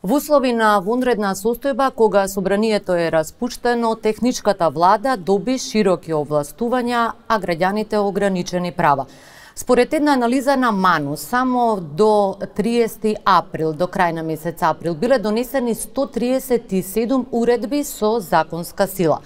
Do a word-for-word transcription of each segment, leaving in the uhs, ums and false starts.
Во услови на вонредна состојба, кога собранието е распуштено, техничката влада доби широки овластувања, а граѓаните ограничени права. Според една анализа на МАНУ, само до триесети април, до крај на месец април, биле донесени сто триесет и седум уредби со законска сила.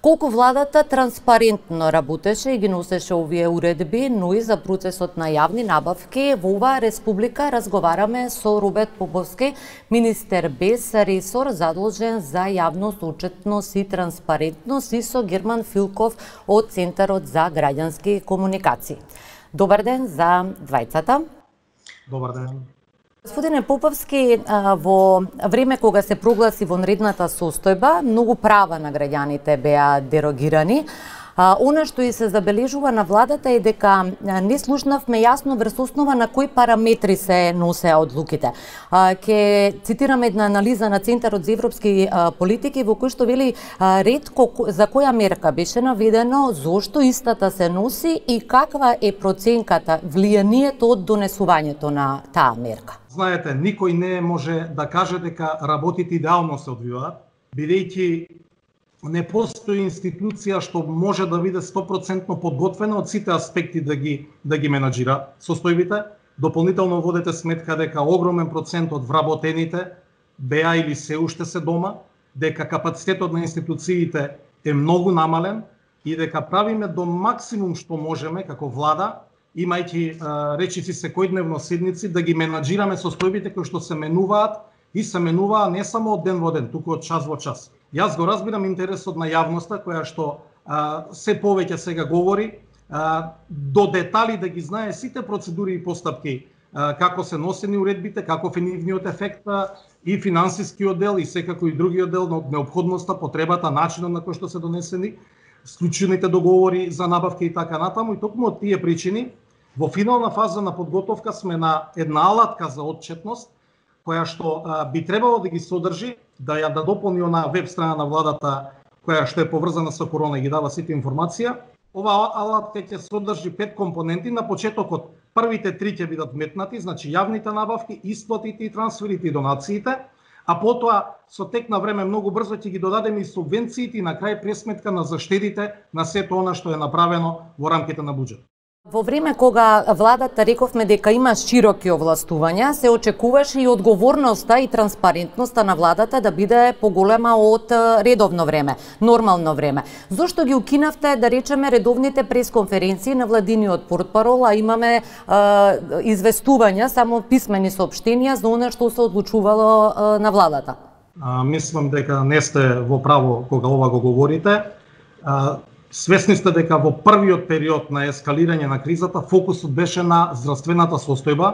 Колку владата транспарентно работеше и ги носеше овие уредби, но и за процесот на јавни набавки, во оваа республика разговараме со Роберт Поповски, министер без ресор задолжен за јавност, отчетност и транспарентност, и со Герман Филков од Центарот за граѓански комуникации. Добар ден за двајцата. Добар ден. Господине Поповски, во време кога се прогласи вонредната состојба, многу права на граѓаните беа дерогирани. Она што и се забележува на владата е дека не слушнавме јасно врз основа на кои параметри се носеа одлуките. Ке цитирам една анализа на Центарот за европски политики во кој што вели ретко за која мерка беше наведено, зошто истата се носи и каква е проценката, влијанието од донесувањето на таа мерка. Знаете, никој не може да каже дека работите идеално се одвиваат, бидејќи не постои институција што може да биде сто проценти подготвена од сите аспекти да ги да ги менаџира состојбите. Дополнително водете сметка дека огромен процент од вработените беа или се уште се дома, дека капацитетот на институциите е многу намален и дека правиме до максимум што можеме како влада, имајќи речиси секојдневно седници, да ги менаџираме состојбите кои што се менуваат и се менуваа не само од ден во ден, туку од час во час. Јас го разбирам интересот на јавноста, која што а, се повеќе сега говори, а, до детали да ги знае сите процедури и постапки, а, како се носени уредбите, каков е нивниот ефект и финансискиот дел и секако и другиот дел на неопходноста, потребата, начинот на кој што се донесени, склучените договори за набавки и така натаму. И токму од тие причини, во финална фаза на подготовка сме на една алатка за отчетност, која што а, би требало да ги содржи, да ја да дополни на веб страна на владата, која што е поврзана со корона и ги дава сите информација. Ова алатка ќе содржи пет компоненти. На почетокот првите три ќе бидат метнати, значи јавните набавки, исплатите и трансферите и донациите, а потоа со тек на време многу брзо ќе ги додадеме и субвенциите и на крај пресметка на заштедите на сето она што е направено во рамките на буџет. Во време кога владата рековме дека има широки овластувања, се очекуваше и одговорноста и транспарентноста на владата да биде поголема од редовно време, нормално време. Зошто ги укинавте, да речеме, редовните пресконференции на владиниот портпарол, а имаме е, известувања, само писмени соопштенија за она што се одлучувало е, на владата? А, мислам дека не сте во право кога ова го говорите. А, Свесни сте дека во првиот период на ескалирање на кризата фокусот беше на здравствената состојба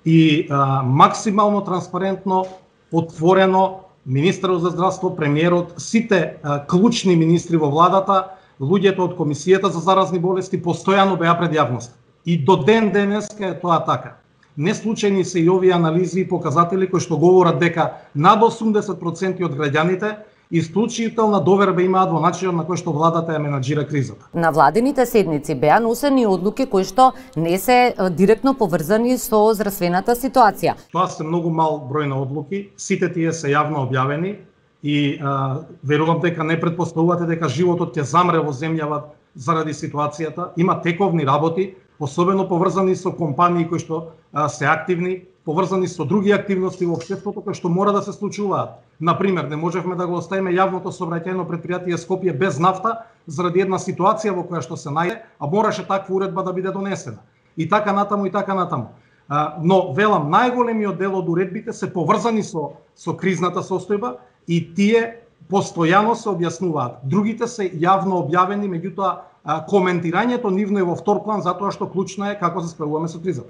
и а, максимално транспарентно, отворено, министерот за здравство, премиерот, сите а, клучни министри во владата, луѓето од Комисијата за заразни болести постојано беа пред јавност. И до ден денеска е тоа така. Не случајни се и овие анализи и показатели кои што говорат дека над осумдесет проценти од граѓаните исклучителна доверба имаат во начинот на кој што владата ја менаџира кризата. На владините седници беа носени одлуки кои што не се директно поврзани со здравствената ситуација. Тоа се многу мал број на одлуки, сите тие се јавно објавени и а, верувам дека не претпоставувате дека животот ќе замре во земјава заради ситуацијата. Има тековни работи, особено поврзани со компании кои што а, се активни, поврзани со други активности во општеството кои што мора да се случуваат. Например, не можевме да го оставиме јавното сообраќајно предпријатие Скопје без нафта заради една ситуација во која што се најде, а мораше таква уредба да биде донесена. И така натаму и така натаму. А, но велам, најголемиот дел од уредбите се поврзани со со кризната состојба и тие постојано се објаснуваат. Другите се јавно објавени, меѓутоа коментирањето нивно е во втор план затоа што клучно е како се справуваме со кризата.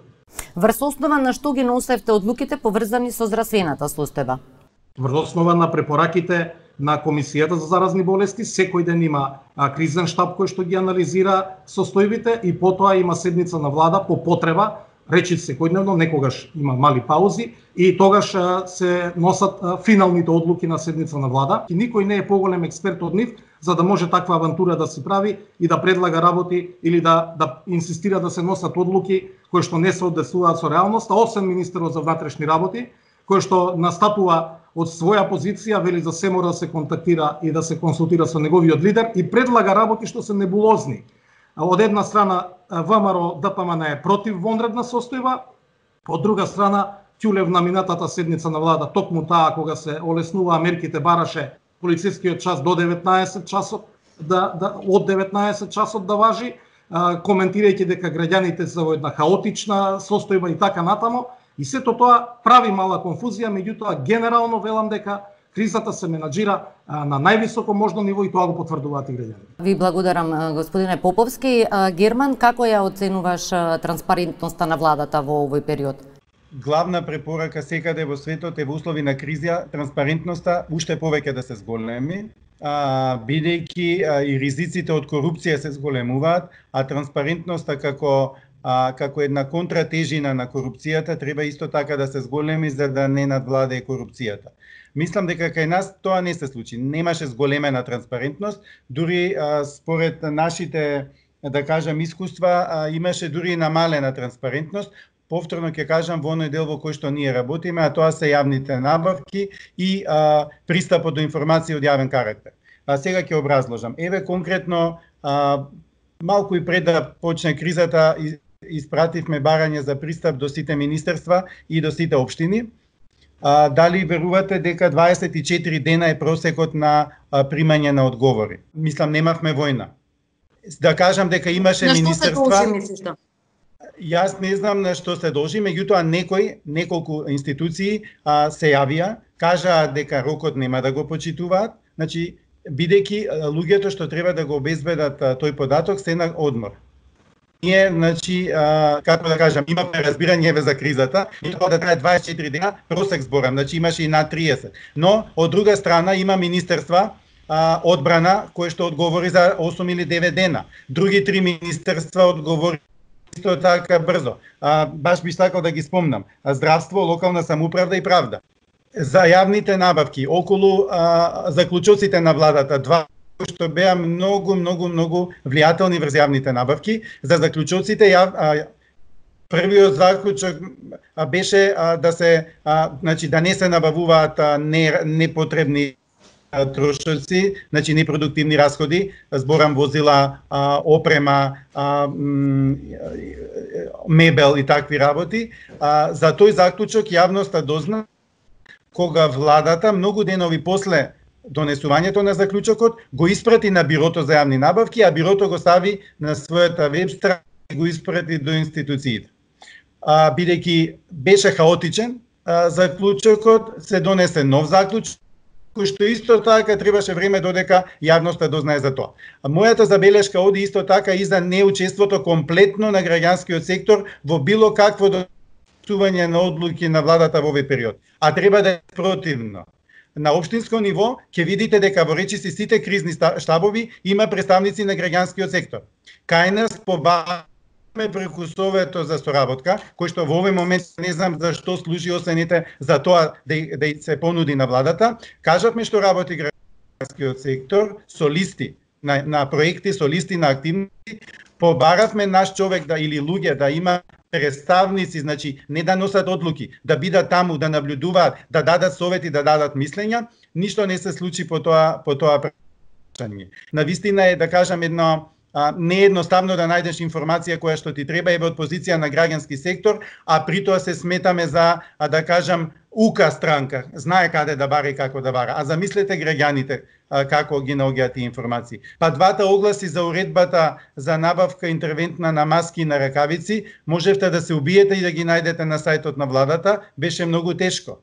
Врз основа на што ги носевте одлуките поврзани со здравствената состојба? Врз основа на препораките на Комисијата за заразни болести, секој ден има а, кризен штаб кој што ги анализира состојбите и потоа има седница на влада по потреба, речи секојдневно, некогаш има мали паузи и тогаш а, се носат а, финалните одлуки на седница на влада. И никој не е поголем експерт од нив за да може таква авантура да се прави и да предлага работи или да да инсистира да се носат одлуки кои што не се однесуваат со реалноста, освен министерот за внатрешни работи, кој што настапува од своја позиција, вели за се мора да се контактира и да се консултира со неговиот лидер и предлага работи што се небулозни. Од една страна ВМРО ДПМН е против вонредна состојба, од друга страна Ќулев на минатата седница на влада токму таа кога се олеснуваа мерките бараше полицискиот час до деветнаесет часот да, да од деветнаесет часот да важи, коментирајќи дека граѓаните се во една хаотична состојба и така натамо, и сето тоа прави мала конфузија, меѓутоа генерално велам дека кризата се менаџира на највисоко можно ниво и тоа го потврдуваат и граѓаните. Ви благодарам, господине Поповски. Герман, како ја оценуваш транспарентноста на владата во овој период? Главна препорака секаде во светот е во услови на криза транспарентноста уште повеќе да се зголеми, бидејќи и ризиците од корупција се зголемуваат, а транспарентноста како А, како една контратежина на корупцијата треба исто така да се зголеми за да не надвладее корупцијата. Мислам дека кај нас тоа не се случи. Немаше зголемена транспарентност, дури а, според нашите, да кажам, искуства, а, имаше дури намалена транспарентност. Повторно ќе кажам во оној дел во кој што ние работиме, а тоа се јавните набавки и а, пристапот до информација од јавен карактер. А сега ќе образложам. Еве конкретно, а, малку и пред да почне кризата, испративме барање за пристап до сите министерства и до сите општини. А, дали верувате дека дваесет и четири дена е просекот на а, примање на одговори? Мислам, немавме војна. Да кажам дека имаше на министерства... На што се должи, мислиш? Јас не знам на што се должи, меѓутоа некои, неколку институции а, се јавија, кажаа дека рокот нема да го почитуваат, значи, бидејќи луѓето што треба да го обезбедат а, тој податок се на одмор. Ние, значи, а, како да кажам, имаме разбирање за кризата, и тоа да трае дваесет и четири дена, просек зборам, значи имаше и над триесет. Но, од друга страна, има министерства, а, одбрана, кои што одговори за осум или девет дена. Други три министерства одговори исто така брзо. А, баш би сакал да ги спомнам. Здравство, локална самоуправа и правда. За јавните набавки, околу а, заклучоците на владата, два што беа многу, многу, многу влијателни врз јавните набавки. За заклучоците, јав, а, првиот заклучок беше а, да се, а, значи, да не се набавуваат а, не, непотребни а, трошоци, значи непродуктивни расходи, зборам возила, а, опрема, а, м, мебел и такви работи. А, за тој заклучок јавноста дозна кога владата многу денови после донесувањето на заклучокот го испрати на Бирото за јавни набавки, а Бирото го стави на својата веб страница и го испрати до институциите. А, бидејќи беше хаотичен а, заклучокот, се донесе нов заклучок, кој што исто така требаше време додека јавноста дознае за тоа. А мојата забелешка оди исто така и за неучеството комплетно на граѓанскиот сектор во било какво донесување на одлуки на владата во овој период. А треба да е противно. На општинско ниво ќе видите дека во речиси сите кризни штабови има представници на граѓанскиот сектор. Кај нас побаваме преку Совето за соработка, кој што во овој момент не знам за што служи осените за тоа да, да се понуди на владата. Кажавме што работи граѓанскиот сектор со листи на, на проекти, со листи на активности. Побаравме наш човек да или луѓе да има представници, значи не да носат одлуки, да бидат таму, да наблюдуваат, да дадат совети, да дадат мислења, ништо не се случи по тоа по тоа прашање. Навистина е, да кажам, едно а, не е едноставно да најдеш информација која што ти треба еве од позиција на граѓански сектор, а при тоа се сметаме за, а, да кажам, ука странка, знае каде да бара и како да бара. А замислете граѓаните а, како ги наоѓаат тие информации. Па двата огласи за уредбата за набавка интервентна на маски и на ракавици, можевте да се убиете и да ги најдете на сајтот на владата, беше многу тешко.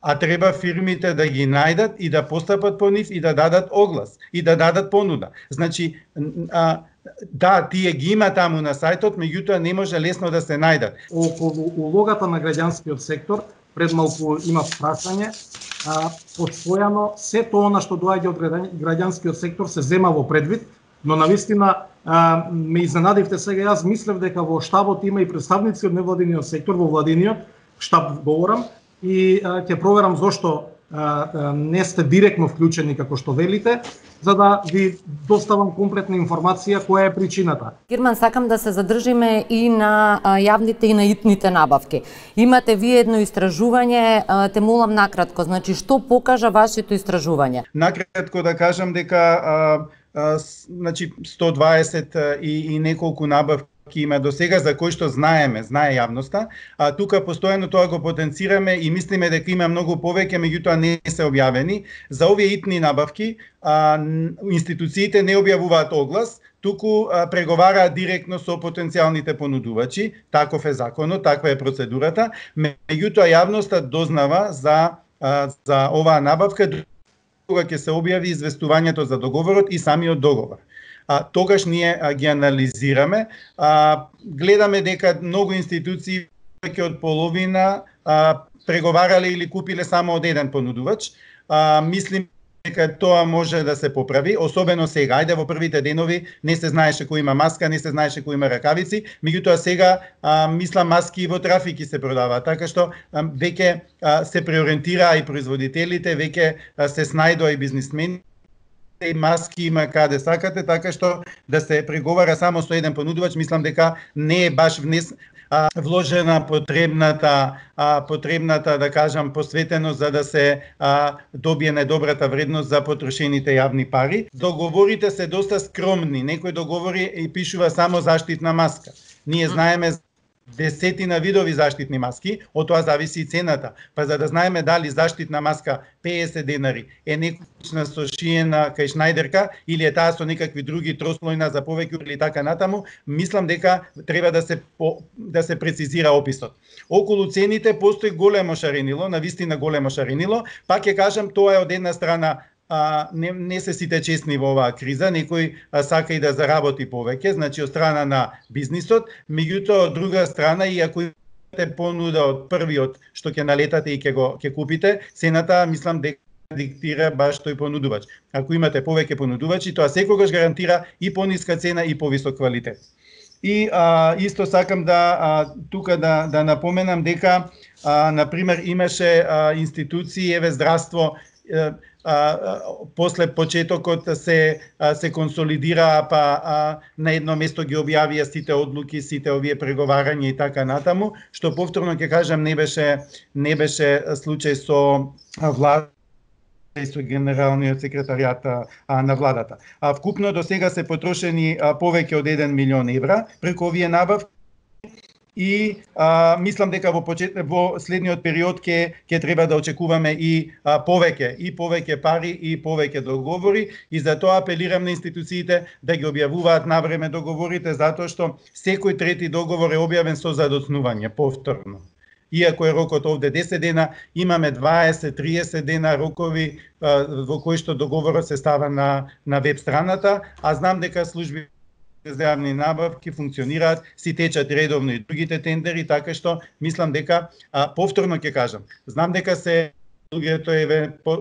А треба фирмите да ги најдат и да постапат по нив и да дадат оглас и да дадат понуда. Значи, а, да, тие ги има таму на сајтот, меѓутоа не може лесно да се најдат. Околу улогата на граѓанскиот сектор, пред малку има прашање, а, постојано се тоа што доаѓа од граѓанскиот сектор се зема во предвид, но навистина а, ме изненадивте сега. Јас мислев дека во штабот има и представници од невладиниот сектор, во владиниот штаб говорам, и а, ќе проверам зошто не сте директно вклучени како што велите, за да ви доставам комплетна информација која е причината. Герман, сакам да се задржиме и на јавните и на итните набавки. Имате вие едно истражување, те молам накратко, значи што покажа вашето истражување? Накратко да кажам дека а, а, значи сто дваесет и, и неколку набавки има до сега за кои што знаеме, знае јавноста, а тука постојано тоа го потенцираме и мислиме дека има многу повеќе, меѓутоа не се објавени. За овие итни набавки а, институциите не објавуваат оглас, туку а, преговараат директно со потенцијалните понудувачи, таков е законот, таква е процедурата, меѓутоа јавноста дознава за, а, за оваа набавка кога ќе се објави известувањето за договорот и самиот договор. А, тогаш ние а, ги анализираме, а, гледаме дека многу институции веќе од половина а, преговарале или купиле само од еден понудувач. А, мислим дека тоа може да се поправи, особено сега. Ајде, во првите денови не се знаеше кој има маска, не се знаеше кој има ракавици, меѓутоа сега а, мислам маски и во трафики се продаваат, така што а, веќе а, се преориентираа и производителите, веќе а, се снајдоа и бизнисмени, и маски има каде сакате, така што да се преговара само со еден понудувач, мислам дека не е баш внес а, вложена потребната а, потребната да кажам посветено за да се а, добие најдобрата вредност за потрошените јавни пари. Договорите се доста скромни, некои договори и пишува само заштитна маска. Ние знаеме десетина видови заштитни маски, од тоа зависи и цената. Па за да знаеме дали заштитна маска педесет денари е некојшна со шиена кај Шнајдерка или е таа со некакви други трослојна за повеќе или така натаму, мислам дека треба да се по, да се прецизира описот. Околу цените постои големо шаренило, навистина големо шаренило, пак ќе кажам тоа е од една страна. А, не, не се сите честни во оваа криза, некој а, сака и да заработи повеќе, значи од страна на бизнисот, меѓутоа од друга страна и ако имате понуда од првиот што ќе налетате и ќе го ќе купите, цената мислам дека диктира баш тој понудувач. Ако имате повеќе понудувачи, тоа секогаш гарантира и пониска цена и повисок квалитет. И а, исто сакам да а, тука да да напоменам дека а, на пример имаше а, институции, еве здравство, а, а, после почетокот се а, се консолидираа, па а, на едно место ги објавија сите одлуки, сите овие преговарања и така натаму, што повторно ќе кажам не беше не беше случај со влада и со генералниот секретаријат а, на владата. А вкупно до сега се потрошени а, повеќе од еден милион евра преку овие набавки. И а, мислам дека во почет, во следниот период ќе ќе треба да очекуваме и а, повеќе и повеќе пари и повеќе договори и затоа апелирам на институциите да ги објавуваат навреме договорите, затоа што секој трети договор е објавен со задоцнување повторно. Иако е рокот овде десет дена, имаме дваесет до триесет дена рокови а, во кои што договорот се става на на веб страната, а знам дека служби за јавни набавки функционираат, си течат редовно и другите тендери, така што мислам дека а, повторно ќе кажам, знам дека се луѓето еве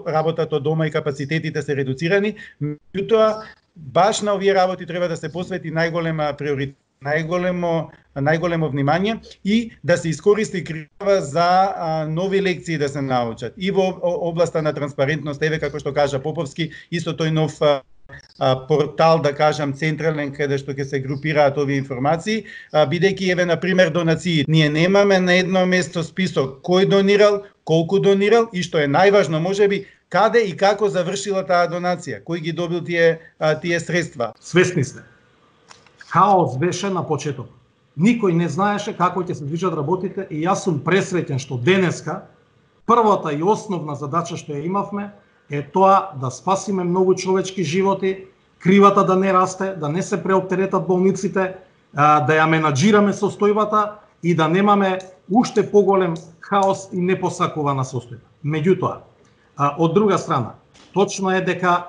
работат од дома и капацитетите се редуцирани, меѓутоа баш на овие работи треба да се посвети најголема приоритет, најголемо најголемо внимание и да се искористи крива за а, нови лекции да се научат и во областа на транспарентност, еве како што кажа Поповски, исто тој нов а, портал, да кажам, централен, каде што ќе се групираат овие информации, бидејќи еве на пример донации. Ние немаме на едно место список кој донирал, колку донирал и што е најважно, можеби каде и како завршила таа донација, кој ги добил тие тие средства. Свесни сте. Хаос беше на почеток. Никој не знаеше како ќе се движат работите и јас сум пресреќен што денеска првата и основна задача што ја имавме е тоа да спасиме многу човечки животи, кривата да не расте, да не се преоптеретат болниците, да ја менаџираме состојбата и да немаме уште поголем хаос и непосакувана состојба. Меѓутоа, од друга страна, точно е дека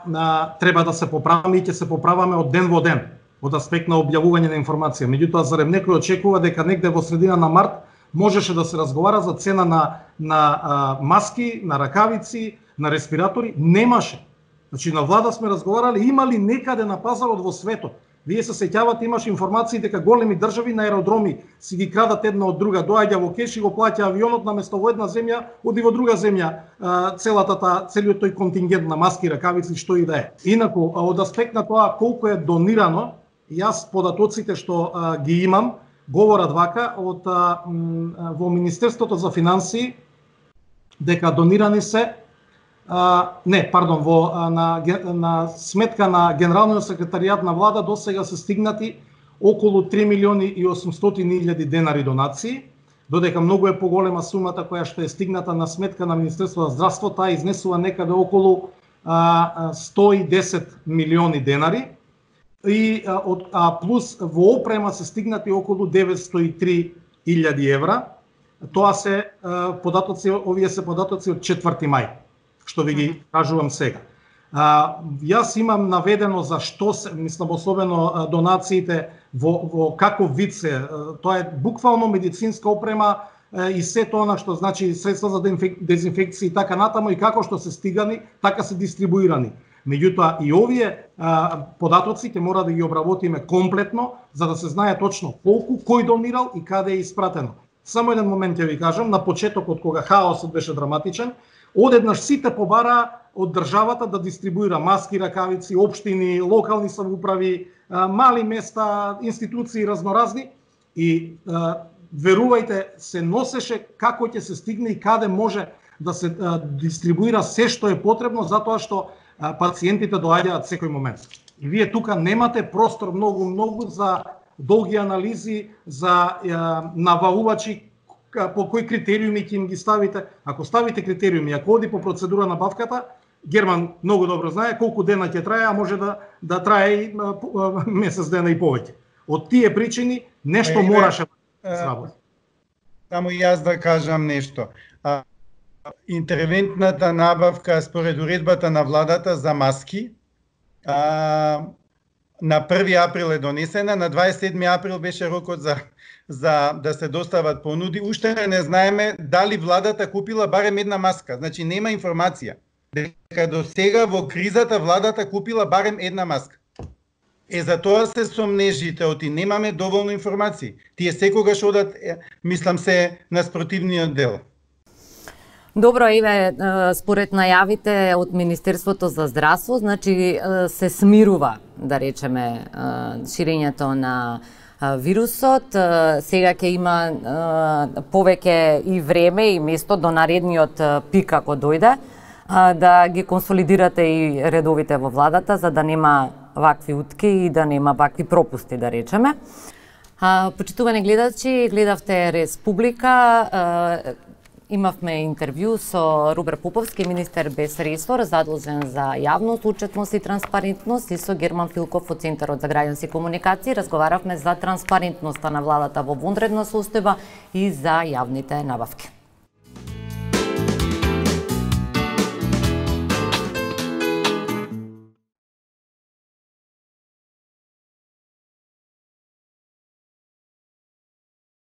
треба да се поправиме и ќе се поправаме од ден во ден од аспект на објавување на информација. Меѓутоа, зарем некој очекува дека негде во средина на март можеше да се разговара за цена на на а, маски, на ракавици, на респиратори? Немаше. Значи на влада сме разговарали, има ли некаде на пазарот во светот Вие се сеќавате, имаш информации дека големи држави на аеродроми си ги крадат една од друга, доаѓа во кеш и го плаќа авионот, наместо во една земја, оди во друга земја, целата та, целиот тој контингент на маски, ракавици, што и да е. Инаку, од аспект на тоа колку е донирано, јас податоците што а, ги имам, говорат вака, од а, м, во Министерството за финансии, дека донирани се Uh, не, пардон, во uh, на, на сметка на Генералниот секретаријат на влада до сега се стигнати околу три милиони и осумстотини илјади денари донации, додека многу е поголема сумата која што е стигната на сметка на Министерството за здравство, таа изнесува некаде околу uh, сто и десет милиони денари и uh, од, а плюс во опрема се стигнати околу деветстотини и три илјади евра. Тоа се uh, податоци, овие се податоци од четврти мај. Што ви ги кажувам сега. А, јас имам наведено за што се, мислам особено донациите во, во каков вид се, тоа е буквално медицинска опрема и се тоа што значи средства за дезинфекција и така натаму и како што се стигани, така се дистрибуирани. Меѓутоа и овие а, податоци ќе мора да ги обработиме комплетно за да се знае точно колку, кој донирал и каде е испратено. Само еден момент ќе ви кажам, на почетокот кога хаосот беше драматичен, одеднаш сите побара од државата да дистрибуира маски, ракавици, општини, локални самоуправи, мали места, институции разноразни и верувајте, се носеше како ќе се стигне и каде може да се дистрибуира се што е потребно, затоа што пациентите доаѓаат секој момент. И вие тука немате простор многу многу за долги анализи, за наваувачи по кои критериуми ќе им ги ставите. Ако ставите критериуми, ако оди по процедура на бавката, Герман многу добро знае колку дена ќе трае, а може да да трае и месец дена и повеќе. Од тие причини нешто мораше да се работи. Само јас да кажам нешто. А, интервентната набавка според уредбата на владата за маски а, на први април е донесена, на дваесет и седми април беше рокот за за да се достават понуди. Уште не знаеме дали владата купила барем една маска. Значи нема информација дека до сега во кризата владата купила барем една маска. Е, за тоа се сомнежите, оти немаме доволно информации. Тие секогаш одат, мислам се, на спротивниот дел. Добро, еве, според најавите од Министерството за здравство, значи се смирува, да речеме, ширењето на вирусот. Сега ќе има повеќе и време и место до наредниот пик ако дојде, да ги консолидирате и редовите во владата, за да нема вакви утки и да нема вакви пропусти, да речеме. Почитувани гледачи, гледавте Республика. Имавме интервју со Рубер Поповски, министер без ресор, задолжен за јавност, отчетност и транспарентност, и со Герман Филков од Центарот за граѓански комуникации. Разговаравме за транспарентноста на владата во вонредна состојба и за јавните набавки.